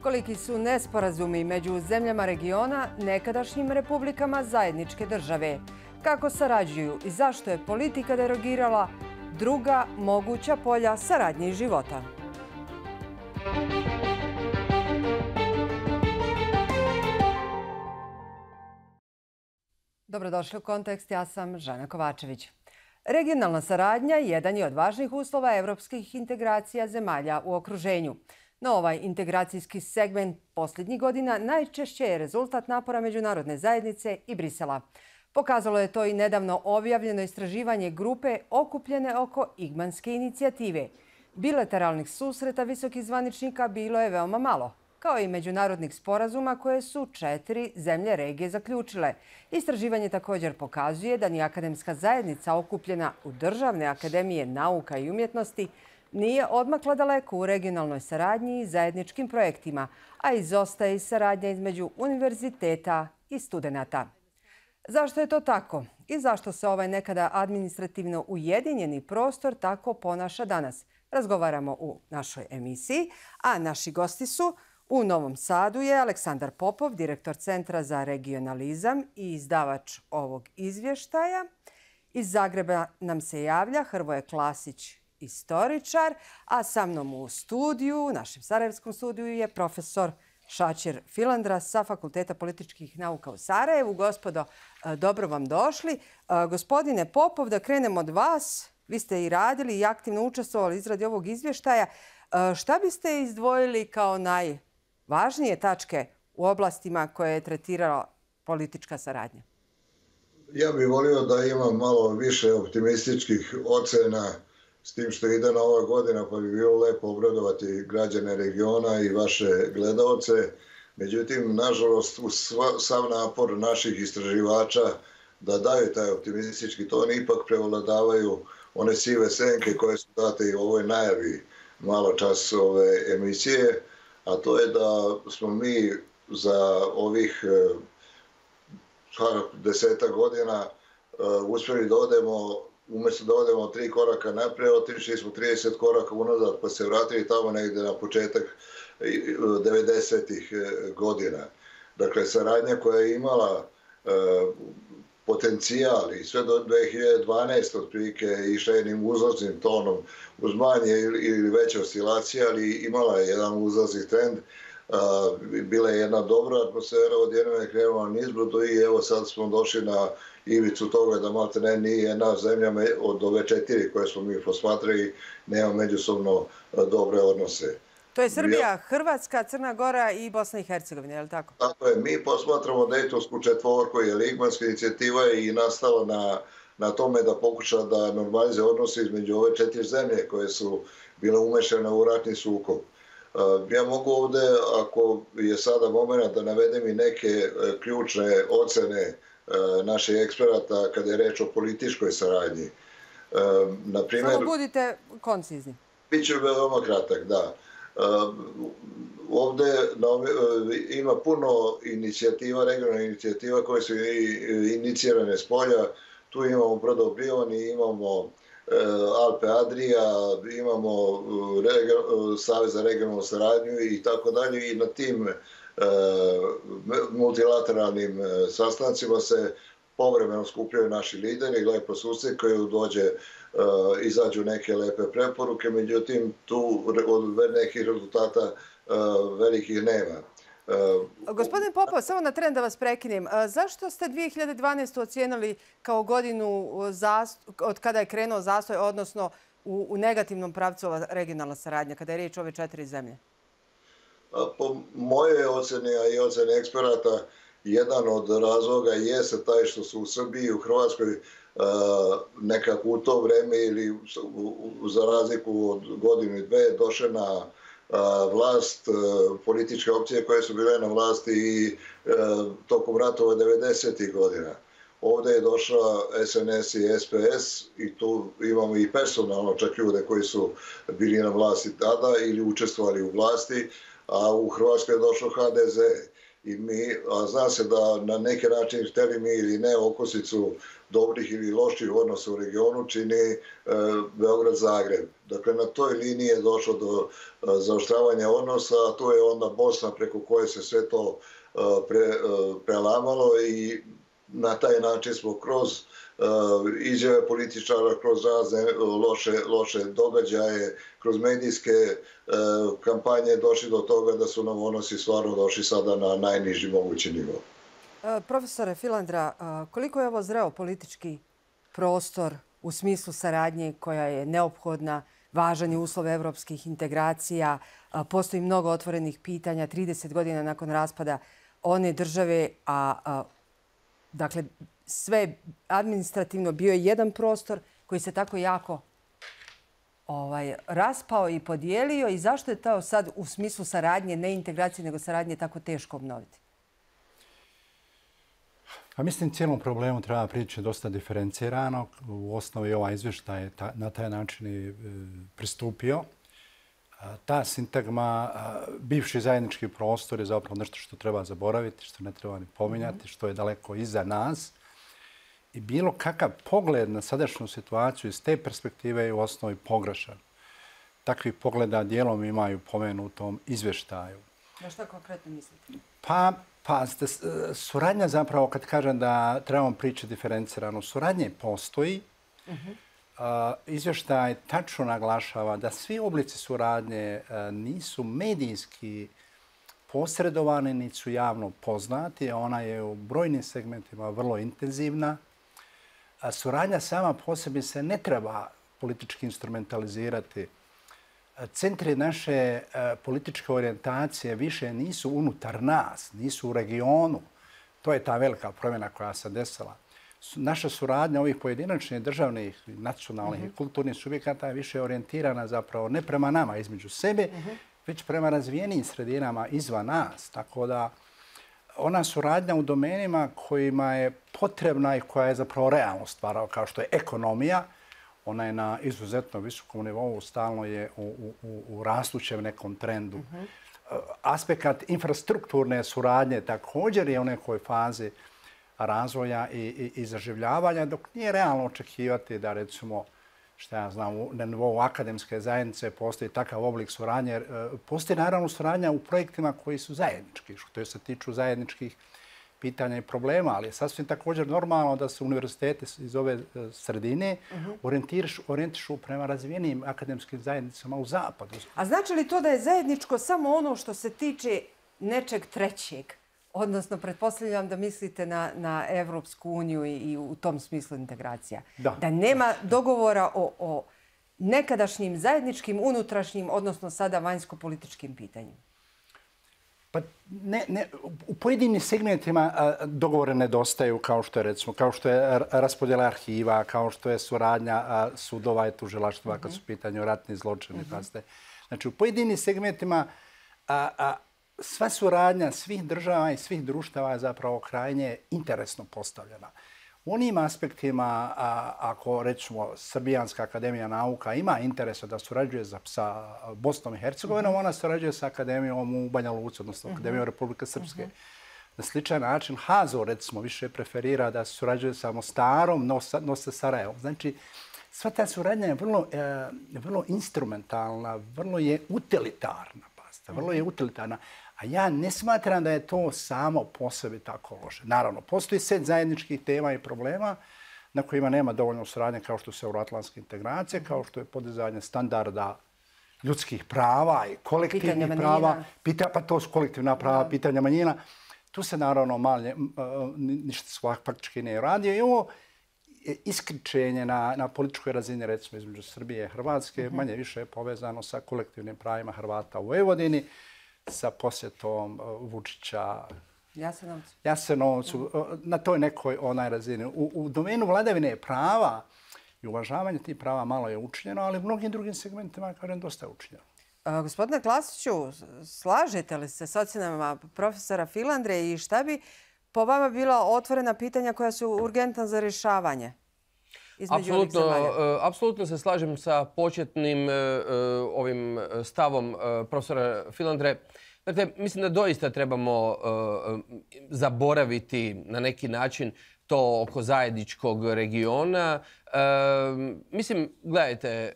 Koliki su nesporazumi među zemljama regiona, nekadašnjim republikama zajedničke države? Kako sarađuju i zašto je politika derogirala druga moguća polja saradnje i života? Dobrodošli u Kontekst, ja sam Žana Kovačević. Regionalna saradnja jedan je od važnih uslova evropskih integracija zemalja u okruženju. No ovaj integracijski segment posljednjih godina najčešće je rezultat napora međunarodne zajednice i Brisela. Pokazalo je to i nedavno objavljeno istraživanje grupe okupljene oko Igmanske inicijative. Bilateralnih susreta visokih zvaničnika bilo je veoma malo, kao i međunarodnih sporazuma koje su 4 zemlje regije zaključile. Istraživanje također pokazuje da ni akademska zajednica okupljena u Državne akademije nauka i umjetnosti nije odmakla daleko u regionalnoj saradnji i zajedničkim projektima, a izostaje i saradnja između univerziteta i studenata. Zašto je to tako i zašto se ovaj nekada administrativno ujedinjeni prostor tako ponaša danas? Razgovaramo u našoj emisiji, a naši gosti su u Novom Sadu je Aleksandar Popov, direktor Centra za regionalizam i izdavač ovog izvještaja. Iz Zagreba nam se javlja Hrvoje Klasić, istoričar, a sa mnom u studiju, u našem sarajevskom studiju je profesor Šačer Filandra sa Fakulteta političkih nauka u Sarajevu. Gospodo, dobro vam došli. Gospodine Popov, da krenemo od vas. Vi ste i radili i aktivno učestvovali u izradi ovog izvještaja. Šta biste izdvojili kao najvažnije tačke u oblastima koje je tretirala politička saradnja? Ja bih volio da imam malo više optimističkih ocena s tim što ide nova godina, pa bi bilo lepo obradovati građane regiona i vaše gledaoce. Međutim, nažalost, uz sav napor naših istraživača da daju taj optimistički ton, ipak prevladavaju one sive senke koje su date i u ovoj najavi malo čas ove emisije, a to je da smo mi za ovih 10 godina uspjeli da odemo, umjesto da odemo 3 koraka naprijed, otišli smo 30 koraka unazad, pa se vratili tamo negdje na početak 90-ih godina. Dakle, saradnja koja je imala potencijal i sve do 2012. otprilike išla jednim uzlaznim tonom uz manje ili veće oscilacije, ali imala je jedan uzlazni trend. Bila je jedna dobra atmosfera, odjednom je krenula nizbrdo i evo sad smo došli na ivicu toga da malte ne nije jedna zemlja od ove 4 koje smo mi posmatrali nema međusobno dobre odnose. To je Srbija, Hrvatska, Crna Gora i Bosna i Hercegovina, je li tako? Tako je, mi posmatramo Dejtonsku četvorku, jer Igmanska inicijativa je i nastala na tome da pokuša da normalize odnose između ove 4 zemlje koje su bile umešane u ratni sukob. Ja mogu ovdje, ako je sada moment, da navedem i neke ključne ocene naših eksperata kada je reč o političkoj saradnji. Samo budite koncizni. Biće veoma kratak, da. Ovdje ima puno inicijativa, regionalnih inicijativa koje su inicirane s polja. Tu imamo Brodobrioni, imamo Alpe Adria, imamo Savez za regionalnu saradnju i tako dalje. I na tim multilateralnim sastancima se povremeno skupljaju naši lideri, lepo susjed koji izađu neke lepe preporuke, međutim tu od nekih rezultata velikih nema. Gospodin Popov, samo na tren da vas prekinem. Zašto ste 2012. ocijenili kao godinu od kada je krenuo zastoj, odnosno u negativnom pravcu ova regionalna saradnja, kada je riječ o ove 4 zemlje? Po moje oceni, a i oceni eksperata, jedan od razloga jeste taj što su u Srbiji i u Hrvatskoj nekako u to vreme ili za razliku od godinu i dve došle na vlast političke opcije koje su bile na vlasti i tokom ratova 90. godina. Ovdje je došla SNS i SPS i tu imamo i personalno čak ljude koji su bili na vlasti tada ili učestvovali u vlasti, a u Hrvatskoj je došlo HDZ. A zna se da na neki način, hteli mi ili ne, okosnicu dobrih ili loših odnosa u regionu čini Beograd-Zagreb. Dakle, na toj liniji je došlo do zaoštravanja odnosa, a to je onda Bosna preko koje se sve to prelamalo i na taj način smo kroz izjave političara, kroz razne loše događaje, kroz medijske kampanje došli do toga da su nam odnosi stvarno došli sada na najniži mogući nivo. Profesore Filandra, koliko je ovo zreo politički prostor u smislu saradnje koja je neophodna, važan je uslov evropskih integracija, postoji mnogo otvorenih pitanja, 30 godina nakon raspada one države, dakle, sve administrativno bio je jedan prostor koji se tako jako raspao i podijelio i zašto je to sad u smislu saradnje, ne integracije, nego saradnje tako teško obnoviti? Pa mislim, cijelom problemu treba prići dosta diferencirano. U osnovi ovaj izvještaj je na taj način i pristupio. Ta sintagma, bivši zajednički prostor je zapravo nešto što treba zaboraviti, što ne treba ni pominjati, što je daleko iza nas. I bilo kakav pogled na sadašnju situaciju iz te perspektive je u osnovi pogrešan. Takvih pogleda dijelom imaju pomenutom izvještaju. Na što konkretno mislite? Pa suradnja zapravo, kad kažem da trebamo pričati diferencirano, suradnje postoji. Izvještaj tačno naglašava da svi oblici suradnje nisu medijski posredovani, niti su javno poznati. Ona je u brojnim segmentima vrlo intenzivna. Suradnja sama po sebi se ne treba politički instrumentalizirati. Centri naše političke orijentacije više nisu unutar nas, nisu u regionu. To je ta velika promjena koja se desila. Naša suradnja ovih pojedinačnih državnih, nacionalnih i kulturnih subjekata je više orijentirana zapravo ne prema nama između sebe, već prema razvijenim sredinama izvan nas. Tako da ona suradnja u domenima kojima je potrebna i koja je zapravo realno stvarao, kao što je ekonomija, ona je na izuzetno visokom nivou, stalno je u rastućem nekom trendu. Aspekt infrastrukturne suradnje također je u nekoj fazi razvoja i zaživljavanja, dok nije realno očekivati da, recimo, što ja znam, na nivou akademske zajednice postoji takav oblik suradnje. Postoji naravno suradnja u projektima koji su zajednički, što se tiču zajedničkih pitanja i problema, ali je sasvim također normalno da se univerzitete iz ove sredine orijentišu prema razvijenim akademskim zajednicama u zapadu. A znači li to da je zajedničko samo ono što se tiče nečeg trećeg? Odnosno, pretpostavljam da mislite na Evropsku uniju i u tom smislu integracija. Da nema dogovora o nekadašnjim zajedničkim, unutrašnjim, odnosno sada vanjsko-političkim pitanjima. Pa u pojedinim segmentima dogovore nedostaju, kao što je, recimo, kao što je raspodjela arhiva, kao što je suradnja sudova i tužilaštva kad su u pitanju ratni zločini. Znači, u pojedinim segmentima sva suradnja svih država i svih društava je zapravo krajnje interesno postavljena. U onim aspektima, ako recimo Srbijanska akademija nauka ima interesa da surađuje sa Bosnom i Hercegovinom, ona surađuje sa akademijom u Banja Luci, odnosno Akademijom Republike Srpske. Na sličan način HAZO, recimo, više preferira da surađuje sa Mostarom, no sa Sarajevom. Znači, sva ta suradnja je vrlo instrumentalna, vrlo je utilitarna. Vrlo je utilitarna. A ja ne smatram da je to samo po sebi tako loše. Naravno, postoji set zajedničkih tema i problema na kojima nema dovoljno suradnje, kao što su euroatlantske integracije, kao što je podizanje standarda ljudskih prava i kolektivnih prava. Pa to su kolektivna prava, pitanja manjina. Tu se naravno ništa faktički ne radi. I ovo iskričenje na političkoj razini, recimo između Srbije i Hrvatske, manje više je povezano sa kolektivnim pravima Hrvata u Vojvodini, sa posjetom Vučića Jasenovcu, na toj nekoj razini. U domenu vladavine prava i uvažavanja tih prava malo je učinjeno, ali u mnogim drugim segmentima je dosta učinjeno. Gospodine Klasiću, slažete li se s ocjenama profesora Filandre i šta bi po vama bila otvorena pitanja koja su urgentna za rješavanje? Apsolutno se slažem sa početnim ovim stavom profesora Filandre. Dakle, mislim da doista trebamo zaboraviti na neki način to oko zajedničkog regiona. Mislim, gledajte,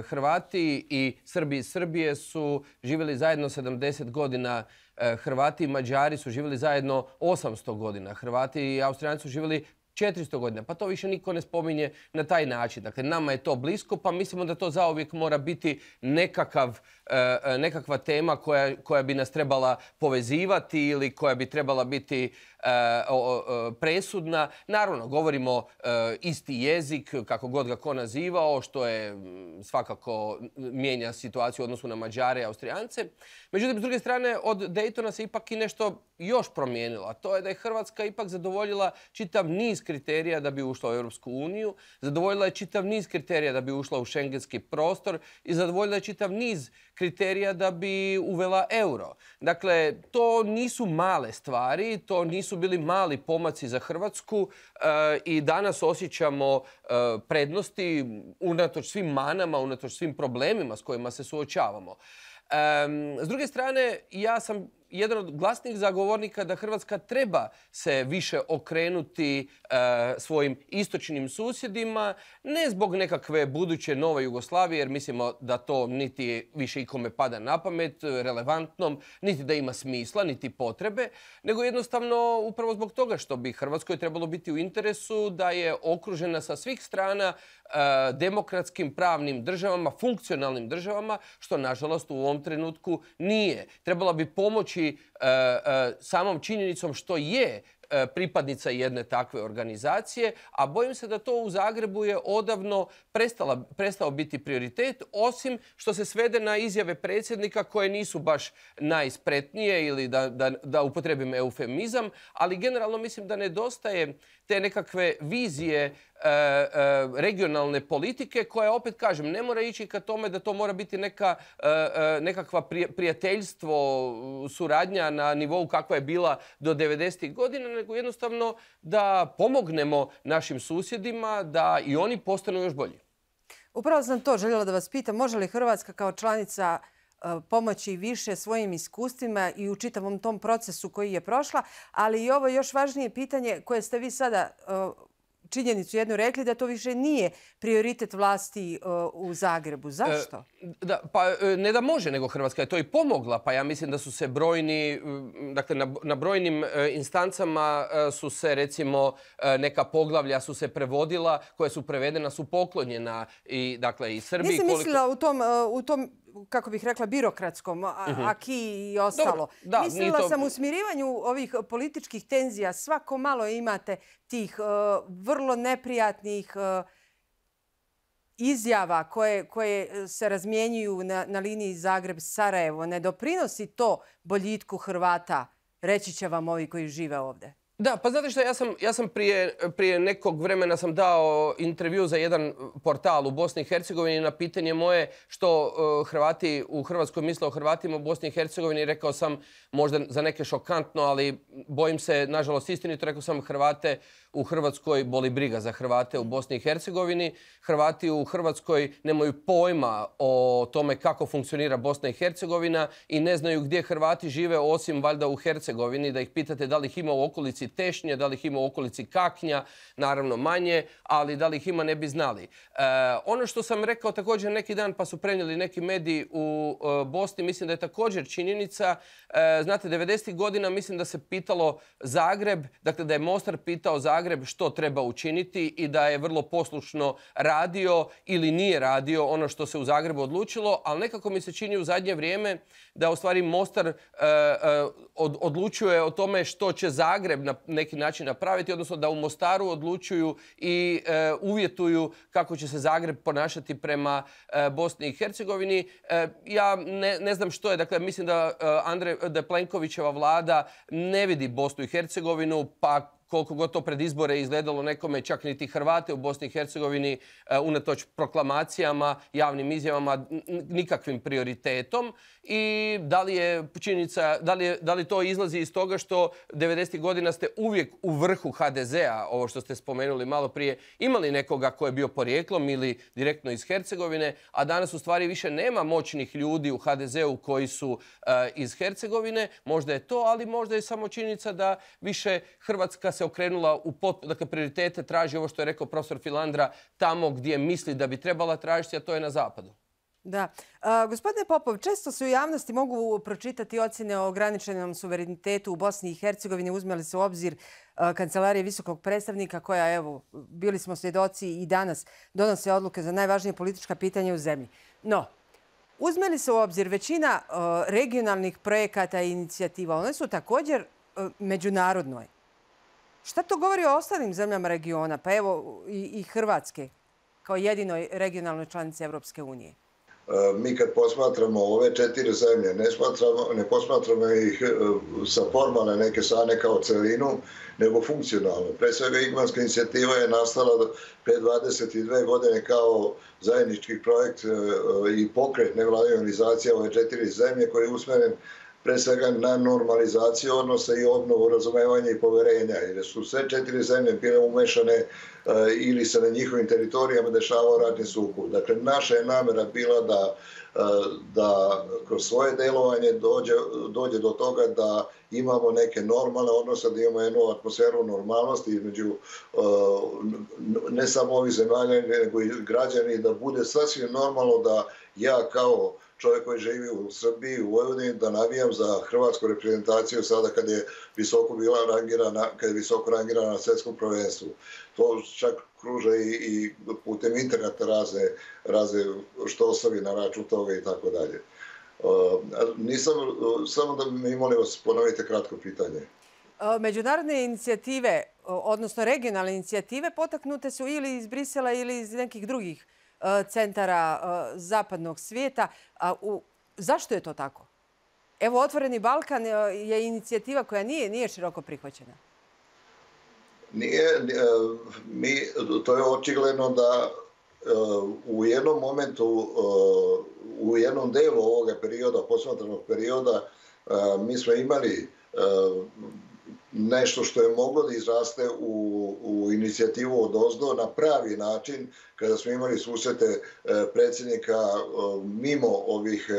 Hrvati i Srbi iz Srbije su živjeli zajedno 70 godina. Hrvati i Mađari su živjeli zajedno 800 godina. Hrvati i Austrijanci su živjeli 400 godina. Pa to više niko ne spominje na taj način. Dakle, nama je to blisko, pa mislimo da to zauvijek mora biti nekakva tema koja bi nas trebala povezivati ili koja bi trebala biti presudna. Naravno, govorimo isti jezik, kako god ga ko nazivao, što je svakako mijenja situaciju u odnosu na Mađare i Austrijance. Međutim, s druge strane, od Daytona se ipak i nešto još promijenilo. A to je da je Hrvatska ipak zadovoljila čitav niz kriterija da bi ušla u Europsku uniju, zadovoljila je čitav niz kriterija da bi ušla u šengenski prostor i zadovoljila je čitav niz kriterija da bi uvela euro. Dakle, to nisu male stvari, to nisu bili mali pomaci za Hrvatsku i danas osjećamo prednosti unatoč svim manama, unatoč svim problemima s kojima se suočavamo. S druge strane, ja sam jedan od glasnih zagovornika da Hrvatska treba se više okrenuti svojim istočnim susjedima, ne zbog nekakve buduće nove Jugoslavije, jer mislimo da to niti više ikome pada na pamet, relevantnom, niti da ima smisla, niti potrebe, nego jednostavno upravo zbog toga što bi Hrvatskoj trebalo biti u interesu da je okružena sa svih strana demokratskim pravnim državama, funkcionalnim državama, što nažalost u ovom trenutku nije. Trebala bi pomoći samom činjenicom što je pripadnica jedne takve organizacije, a bojim se da to u Zagrebu je odavno prestao biti prioritet, osim što se svede na izjave predsjednika koje nisu baš najspretnije ili da upotrebim eufemizam, ali generalno mislim da nedostaje te nekakve vizije regionalne politike koja, opet kažem, ne mora ići ka tome da to mora biti nekakva prijateljstvo, suradnja na nivou kakva je bila do 90. godina, nego jednostavno da pomognemo našim susjedima da i oni postanu još bolji. Upravo sam to željela da vas pitam. Može li Hrvatska kao članica pomoći više svojim iskustvima i u čitavom tom procesu koji je prošla, ali i ovo još važnije pitanje koje ste vi sada činjenicu jednu rekli, da to više nije prioritet vlasti u Zagrebu. Zašto? Ne da može, nego Hrvatska je to i pomogla. Pa ja mislim da su se brojni, dakle na brojnim instancama su se recimo neka poglavlja su se prevodila, koja su prevedena, su poklonjena i dakle i Srbiji. Nisam mislila u tom kako bih rekla, birokratskom, aki i ostalo. Mislila sam u smirivanju ovih političkih tenzija. Svako malo imate tih vrlo neprijatnih izjava koje se razmjenjuju na liniji Zagreb-Sarajevo. Ne doprinosi to boljitku Hrvata, reći će vam ovi koji žive ovdje. Da, pa znate što, ja sam prije nekog vremena sam dao intervju za jedan portal u Bosni i Hercegovini na pitanje moje što Hrvati u Hrvatskoj misle o Hrvatima u Bosni i Hercegovini. Rekao sam, možda za neke šokantno, ali bojim se, nažalost istinito, rekao sam Hrvate u Hrvatskoj boli briga za Hrvate u Bosni i Hercegovini. Hrvati u Hrvatskoj nemaju pojma o tome kako funkcionira Bosna i Hercegovina i ne znaju gdje Hrvati žive osim valjda u Hercegovini. Da ih pitate da li ih ima u okolici Tešnje, da li ih ima u okolici Kaknja, naravno manje, ali da li ih ima ne bi znali. Ono što sam rekao također neki dan, pa su prenijeli neki mediji u Bosni, mislim da je također činjenica. Znate, 90. godina mislim da se pitalo Zagreb, dakle da je Mostar pitao Zagreb što treba učiniti i da je vrlo poslušno radio ili nije radio ono što se u Zagrebu odlučilo, ali nekako mi se čini u zadnje vrijeme da u stvari Mostar odlučuje o tome što će Zagreb na neki način napraviti, odnosno da u Mostaru odlučuju i uvjetuju kako će se Zagreb ponašati prema Bosni i Hercegovini. Ja ne znam što je, dakle mislim da Plenkovićeva vlada ne vidi Bosnu i Hercegovinu, pa koliko god to pred izbore izgledalo nekome, čak niti Hrvate u Bosni i Hercegovini, unatoč proklamacijama, javnim izjavama, nikakvim prioritetom. I da li je činjenica, da li to izlazi iz toga što 90. godina ste uvijek u vrhu HDZ-a, ovo što ste spomenuli malo prije, imali nekoga ko je bio porijeklom ili direktno iz Hercegovine, a danas u stvari više nema moćnih ljudi u HDZ-u koji su iz Hercegovine. Možda je to, ali možda je samo činjenica da više Hrvatska se okrenula u dakle, prioritete traži ovo što je rekao profesor Filandra tamo gdje misli da bi trebala tražiti, a to je na zapadu. Da. Gospodine Popov, često se u javnosti mogu pročitati ocjene o ograničenom suverenitetu u Bosni i Hercegovini. Uzme li se u obzir Kancelarije visokog predstavnika koja, evo, bili smo svjedoci i danas donose odluke za najvažnije politička pitanja u zemlji. No, uzme li se u obzir većina regionalnih projekata i inicijativa, one su također međunarodnoj. Šta to govori o ostalim zemljama regiona, pa evo i Hrvatske kao jedinoj regionalnoj članici Evropske unije? Mi kad posmatramo ove 4 zemlje, ne posmatramo ih sa formalne neke strane kao celinu, nego funkcionalno. Pre svega Igmanska inicijativa je nastala pre 22 godine kao zajednički projekt i pokret nevladine organizacije ove 4 zemlje koji je usmeren pre svega na normalizaciju odnosa i obnovu razumevanja i poverenja. Jer su sve 4 zemlje bile umešane ili se na njihovim teritorijama dešavao ratni sukob. Dakle, naša je namera bila da kroz svoje delovanje dođe do toga da imamo neke normalne odnose, da imamo jednu atmosferu normalnosti između ne samo ovih zemalja, nego i građani, da bude sasvim normalno da ja kao čovjek koji živi u Srbiji, u Vojvodini, da navijam za hrvatsku reprezentaciju sada kad je visoko rangirana na svjetskom prvenstvu. To čak kruže i putem interneta razne što ostavi na račun toga i tako dalje. Samo da mi molim vas ponovite kratko pitanje. Međunarodne inicijative, odnosno regionalne inicijative, potaknute su ili iz Brisela ili iz nekih drugih centara zapadnog svijeta. Zašto je to tako? Evo, Otvoreni Balkan je inicijativa koja nije široko prihvaćena. To je očigledno da u jednom momentu, u jednom delu ovoga perioda, posmatranog perioda, mi smo imali nešto što je moglo da izraste u inicijativu odozdo na pravi način, kada smo imali susrete predsjednika mimo ovih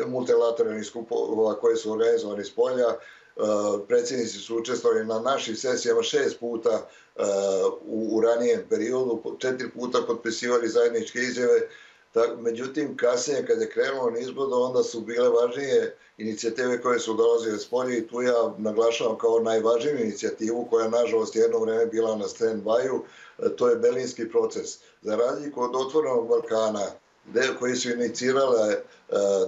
multilateralnih skupova koje su organizovani s polja. Predsjednici su učestvovali na našim sesijama 6 puta u ranijem periodu, 4 puta potpisivali zajedničke izjave. Međutim, kasnije, kada je krenulo nizbrdo, onda su bile važnije inicijative koje su dolazile s polja i tu ja naglašavam kao najvažniju inicijativu koja, nažalost, jedno vreme bila na stand-by-u, to je Berlinski proces. Za razliku od Otvorenog Balkana, koji su inicirale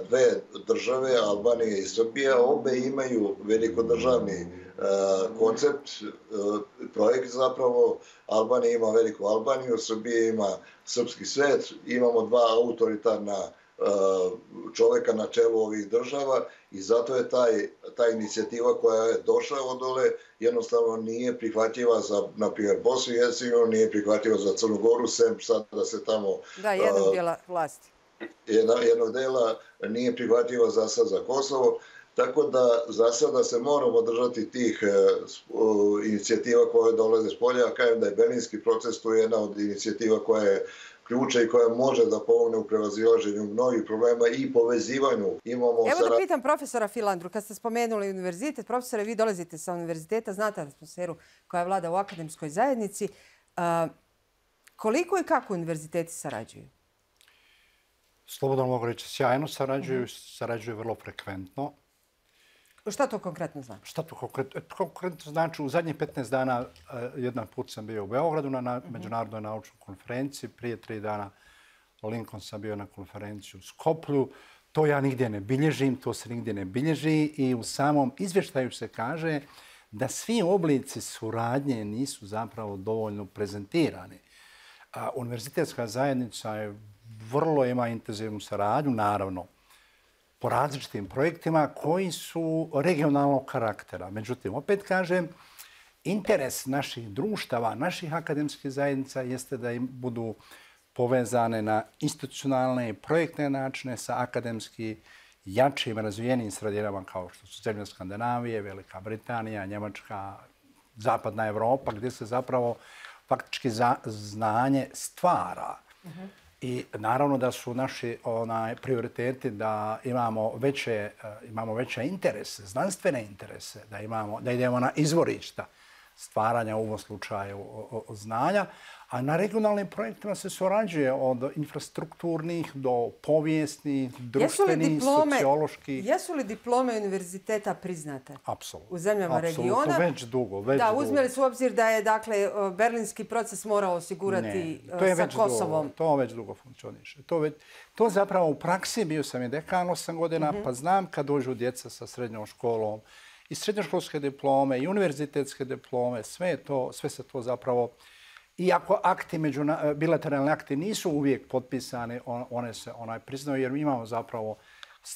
dve države, Albanija i Srbija, obe imaju velikodržavni koncept, projekt zapravo. Albanija ima veliku Albaniju, Srbija ima srpski svet, imamo dva autoritarna čoveka na čelu ovih država i zato je ta inicijativa koja je došla od dole jednostavno nije prihvatljiva za, na primjer, Bosnu i Hercegovinu, nije prihvatljiva za Crnu Goru, sem sad da se tamo... Da, jednog dijela vlasti. Jednog dela nije prihvatljiva za sad za Kosovo, tako da za sada se moramo držati tih inicijativa koje dolaze s polja. Kažem da je Berlinski proces tu jedna od inicijativa koja je ključa i koja može da pomogne u prevazilaženju mnogih problema i povezivanju. Evo da pitam profesora Filandru, kad ste spomenuli univerzitet, profesore, vi dolazite sa univerziteta, znate atmosferu koja vlada u akademskoj zajednici. Koliko i kako univerziteti sarađuju? Slobodno mogu reći, sjajno sarađuju vrlo frekventno. Šta to konkretno znači? Šta to konkretno znači? U zadnjih 15 dana jedan put sam bio u Beogradu na međunarodnoj naučnoj konferenciji. Prije 3 dana Lincoln sam bio na konferenciju u Skoplju. To ja nigdje ne bilježim, to se nigdje ne bilježi i u samom izvještaju se kaže da svi oblici suradnje nisu zapravo dovoljno prezentirani. Univerzitetska zajednica vrlo ima intenzivnu saradnju, naravno, po različitim projektima koji su regionalnog karaktera. Međutim, opet kažem, interes naših društava, naših akademskih zajednica jeste da im budu povezane na institucionalne i projektne načine sa akademski jačim, razvijenim sredinama kao što su zemlje Skandinavije, Velika Britanija, Njemačka, Zapadna Evropa, gdje se zapravo faktički znanje stvara. I naravno da su naši prioriteti da imamo veće interese, znanstvene interese, da idemo na izvorišta stvaranja u ovom slučaju znanja, a na regionalnim projektima se surađuje od infrastrukturnih do povijesnih, društvenih, socioloških. Jesu li diplome univerziteta priznate? Apsolutno. U zemljama regiona? Apsolutno, već dugo. Da, uzmeli su u obzir da je berlinski proces morao osigurati sa Kosovom. To već dugo funkcioniše. To zapravo u praksi, bio sam i dekan 8 godina, pa znam kad dođu djeca sa srednjom školom, i srednjoškolske diplome, i univerzitetske diplome, sve se to zapravo... Iako bilateralni akti nisu uvijek potpisani, one se priznaju jer mi imamo zapravo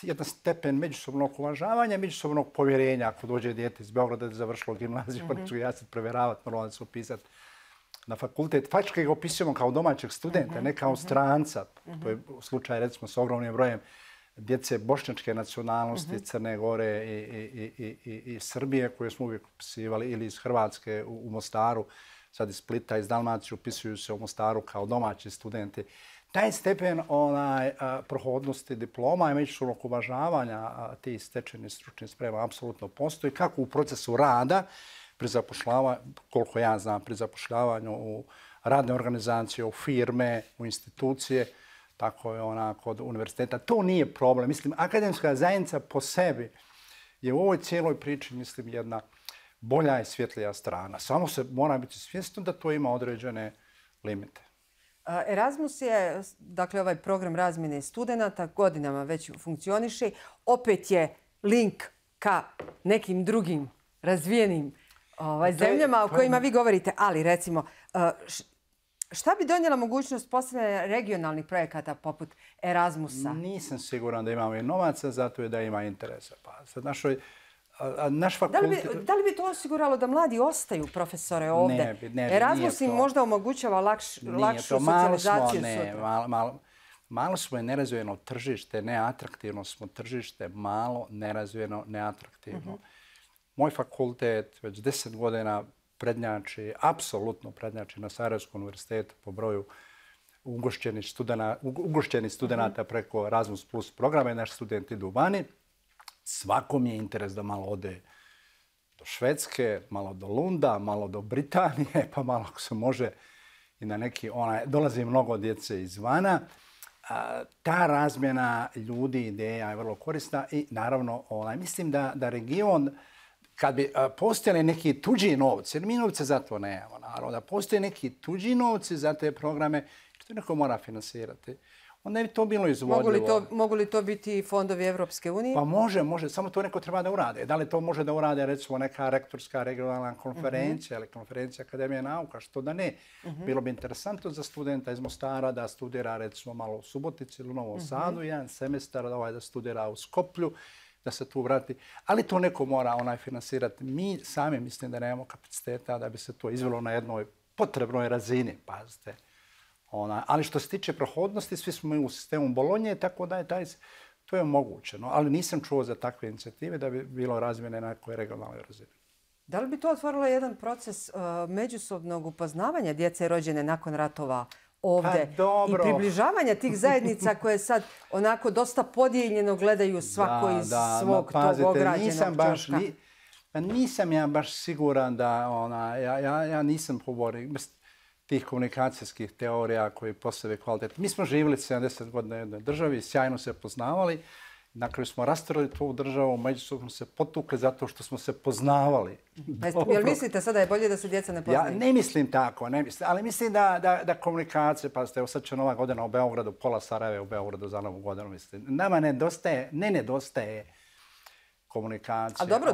jedan stepen međusobnog uvažavanja, međusobnog povjerenja. Ako dođe dijete iz Beograda da je završilo gimnaziju, pa ću ja sad provjeravati, moramo se upisati na fakultet. Faktički ga upisujemo kao domaćeg studenta, ne kao stranca. To je slučaj recimo s ogromnim brojem djece bošnjačke nacionalnosti, Crne Gore i Srbije koje smo uvijek upisivali, ili iz Hrvatske u Mostaru. Sad iz Splita, iz Dalmacije upisuju se u Mostaru kao domaći studenti. Taj stepen prohodnosti diploma i međusobnog uvažavanja tih stečenih stručnih sprema apsolutno postoji, kako u procesu rada, pri zapošljavanju, koliko ja znam, pri zapošljavanju u radne organizacije, u firme, u institucije, tako je kod univerziteta. To nije problem. Mislim, akademska zajednica po sebi je u ovoj cijeloj priči, mislim, jedna bolja i svjetlija strana. Samo se mora biti svjesno da to ima određene limite. Erasmus je, dakle, ovaj program razmjene studenata, godinama već funkcioniše. Opet je link ka nekim drugim razvijenim zemljama o kojima vi govorite. Ali, recimo, šta bi donijela mogućnost postavljanja regionalnih projekata poput Erasmusa? Nisam siguran da imamo i novaca, zato je da ima interesa. Pa sad naš Da li bi to osiguralo da mladi ostaju profesore ovdje? Erasmus im možda omogućava lakšu socijalizaciju sutra. Malo smo je nerazvijeno tržište, neatraktivno smo tržište, malo nerazvijeno, neatraktivno. Moj fakultet već 10 godina prednjači, apsolutno prednjači na Sarajevskom univerzitetu po broju ugošćenih studenata preko Erasmus Plus programa i naši studenti idu vani. Svakom je interes da malo ode do Švedske, malo do Lunda, malo do Britanije, pa malo ako se može i na neki... Dolazi mnogo djece izvana. Ta razmjena ljudi, ideja je vrlo korisna i naravno mislim da region, kad bi postojali neki tuđi novci, jer mi novce za to nemamo, naravno, da postoje neki tuđi novci za te programe, što neko mora finansirati, onda je to bilo izvodljivo. Mogu li to biti fondovi Evropske unije? Pa može. Samo to neko treba da urade. Da li to može da urade recimo neka rektorska regionalna konferencija ili konferencija Akademije nauka, što da ne. Bilo bi interesantno za studenta iz Mostara da studira recimo malo u Subotici ili u Novom Sadu, jedan semestar da studira u Skoplju, da se tu vrati. Ali to neko mora finansirati. Mi sami mislim da nemamo kapaciteta da bi se to izvelo na jednoj potrebnoj razini, pazite. Ali što se tiče prohodnosti, svi smo u sistemu Bolonje, tako da je to je moguće. Ali nisam čuo za takve inicijative da bi bilo razmjene na nekoj regionalnoj razini. Da li bi to otvorilo jedan proces međusobnog upoznavanja djece rođene nakon ratova ovdje i približavanja tih zajednica koje sad onako dosta podijeljeno gledaju svako iz svog tog ograđenog čoška? Nisam ja baš siguran da ja nisam poborio tih komunikacijskih teorija koji postave kvalitet. Mi smo živjeli 70 godina u jednoj državi, sjajno se poznavali. Na kraju smo rastorili tu državu, međusobno se potukli zato što smo se poznavali. Jel mislite sada je bolje da se djeca ne poznaju? Ja ne mislim tako, ali mislim da komunikacije, pazite, evo sad će Nova godina u Beogradu, pola Sarajeva u Beogradu za Novu godinu, mislim. Nama nedostaje komunikacija. A dobro,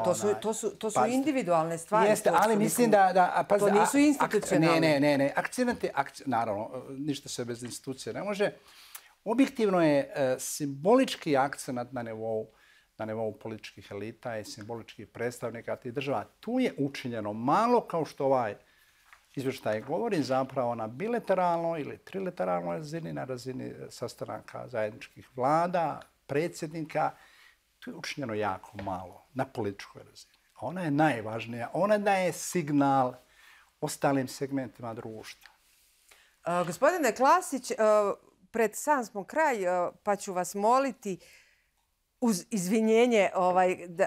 to su individualne stvari. Jeste, ali mislim da... To nisu institucionalne. Ne. Akcenati, naravno, ništa se bez institucije ne može. Objektivno je simbolički akcenat na nivou na nivou političkih elita i simboličkih predstavnika tih država. Tu je učinjeno malo, kao što ovaj izvještaj govori, zapravo na bilateralnoj ili trilateralnoj razini, na razini sastanaka zajedničkih vlada, predsjednika. Tu je učinjeno jako malo na političkoj razini. Ona je najvažnija. Ona daje signal ostalim segmentima društva. Gospodine Klasić, pred sam smo kraj, pa ću vas moliti uz izvinjenje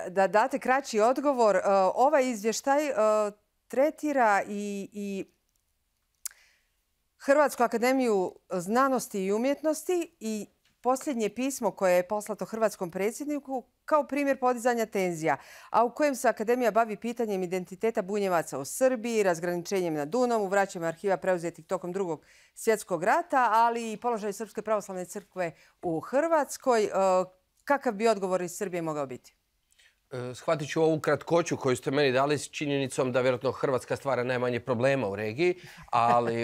da date kraći odgovor. Ovaj izvještaj tretira i Hrvatsku akademiju znanosti i umjetnosti i posljednje pismo koje je poslato hrvatskom predsjedniku kao primjer podizanja tenzija, a u kojem se Akademija bavi pitanjem identiteta Bunjevaca u Srbiji, razgraničenjem na Dunavu, vraćanjem arhiva preuzetih tokom Drugog svjetskog rata, ali i položaj Srpske pravoslavne crkve u Hrvatskoj. Kakav bi odgovor iz Srbije mogao biti? Shvatit ću ovu kratkoću koju ste meni dali s činjenicom da vjerojatno Hrvatska stvara najmanje problema u regiji,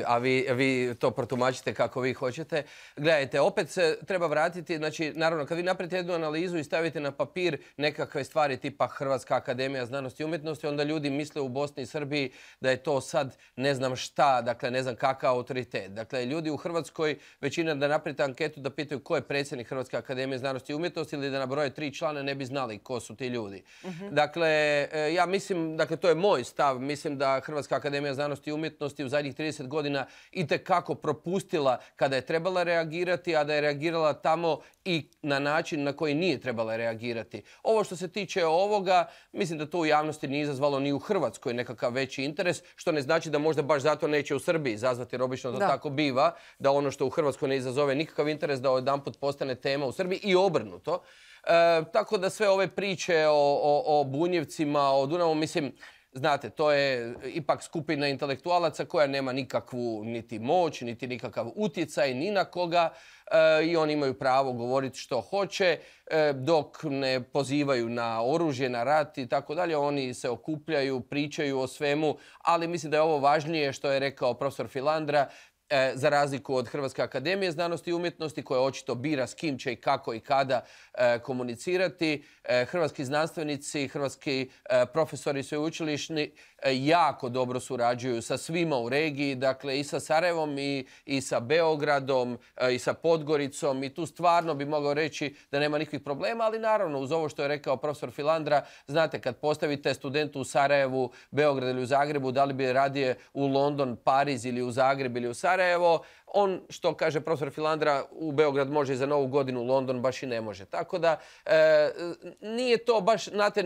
a vi to protumačite kako vi hoćete. Gledajte, opet se treba vratiti, znači, naravno, kad vi napravite jednu analizu i stavite na papir nekakve stvari tipa Hrvatska akademija znanosti i umjetnosti, onda ljudi misle u Bosni i Srbiji da je to sad ne znam šta, dakle, ne znam kakav autoritet. Dakle, ljudi u Hrvatskoj, većina da napravite anketu da pitaju ko je predsjednik Hrvatske akademije znanosti i umjetnosti ili da nabroje 3 člana, ne bi znali ko su ti ljudi. Dakle, ja mislim, dakle, to je moj stav, mislim da Hrvatska akademija znanosti i umjetnosti u zadnjih 30 godina itekako propustila kada je trebala reagirati, a da je reagirala tamo i na način na koji nije trebala reagirati. Ovo što se tiče ovoga, mislim da to u javnosti nije izazvalo ni u Hrvatskoj nekakav veći interes, što ne znači da možda baš zato neće u Srbiji izazvati, jer obično to tako biva, da ono što u Hrvatskoj ne izazove nikakav interes da odjedanput postane tema u Srbiji i obrnuto. Tako da sve ove priče o Bunjevcima, o Dunavu, mislim, znate, to je ipak skupina intelektualaca koja nema nikakvu niti moć, niti nikakav utjecaj, ni na koga i oni imaju pravo govoriti što hoće, dok ne pozivaju na oružje, na rat i tako dalje. Oni se okupljaju, pričaju o svemu, ali mislim da je ovo važnije što je rekao profesor Filandra, za razliku od Hrvatske akademije znanosti i umjetnosti koja očito bira s kim će i kako i kada komunicirati. Hrvatski znanstvenici, hrvatski profesori sveučilišni jako dobro surađuju sa svima u regiji, dakle i sa Sarajevom i sa Beogradom i sa Podgoricom i tu stvarno bi mogao reći da nema nikakvih problema, ali naravno uz ovo što je rekao profesor Filandra, znate kad postavite studentu u Sarajevu, Beogradu ili u Zagrebu, da li bi radije u London, Pariz ili u Zagreb ili u Sarajevo, on, što kaže profesor Filandra, u Beograd može i za Novu godinu, u London baš i ne može. Tako da nije to baš, znate,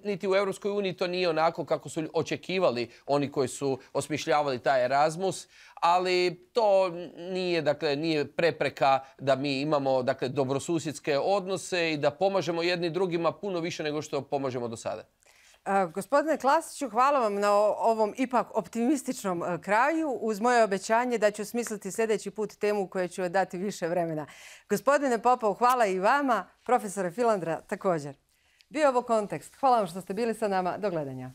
niti u Europskoj uniji to nije onako kako su očekivali oni koji su osmišljavali taj Erasmus, ali to nije, dakle, nije prepreka da mi imamo, dakle, dobrosusjedske odnose i da pomažemo jedni drugima puno više nego što pomažemo do sada. Gospodine Klasiću, hvala vam na ovom ipak optimističnom kraju, uz moje obećanje da ću smisliti sljedeći put temu koju ću dati više vremena. Gospodine Popov, hvala i vama, profesore Filandra također. Bio ovo Kontekst. Hvala vam što ste bili sa nama. Do gledanja.